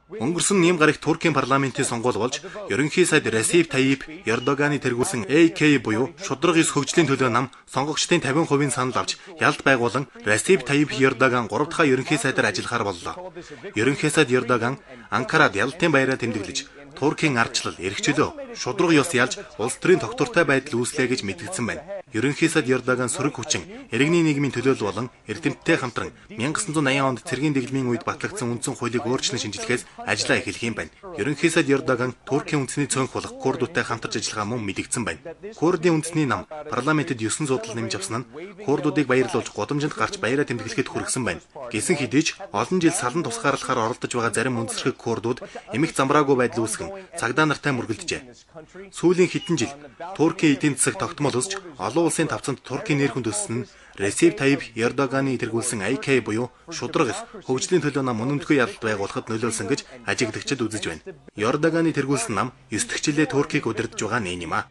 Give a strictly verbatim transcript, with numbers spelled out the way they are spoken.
Өнгөрсөн нийгэм гарагт Туркийн парламентын сонгуул болж, ерөнхий сайд Ресеп Тайип Ердоганы тэргүүлсэн А К буюу шудраг ёс хөгжлийн төлөө нам сонгогчдын тавин хувийн санал авч ялд байгуулан Ресеп Тайип Ердоган гурав дахь ерөнхий сайдаар ажиллахаар боллоо. Ерөнхий сайд Ердоган Анкарад ялтын баяраа тэмдэглэж, Туркийн ардчлал, эрх чөлөө, шудраг ёс ялж улс төрийн тогтвортой байдал үүслэе гэж мэдгдсэн байна. Ерөнхий сайд Ердоган сөрөг хүчин, иргэний нийгмийн төлөөлөл болон эрдэмтдтэй хамтран мянга gysan зуун аян онд цэргийн дэглэмийн үед батлагдсан үндсэн хуулийг өөрчлөн шинжилгэхээс ажиллаа эхлэх юм байна. Ерөнхий сайд Ердоган Туркийн үндэсний цөөнх болох Курдуудтай хамтарч ажиллагаа мөн мэдгдсэн байна. Курдын үндэсний нам парламентэд ёсон зуудал нэмж авсан нь Курдуудыг баярлуулж гудамжинд гарч баяраа тэмдэглэхэд хүргэсэн байна. Гэсэн хэдий ч олон жил салан тусгаарлахаар оролдож байгаа зарим үндэсрэг Курдууд эмх замбраагүй байдал үүсгэн цагдаа нартай мөргөлдөжээ. Сүүлийн хэдэн жил Туркийн эдийн засаг тогтмол өсч олон улсын тавцанд Туркийн нэр хүнд өссөн нь Ресеп Тайип Ердоганы тэргүүлсэн А К буюу шудраг ёс хөгжлийн төлөө нам өнөмтгөө ялалт байгуулахад нөлөөлсөн гэж ажиглагчид үзэж байна. Ердоганы тэргүүлсэн нам ёс төчлөө Туркийг удирдах байгаа нэг юм а.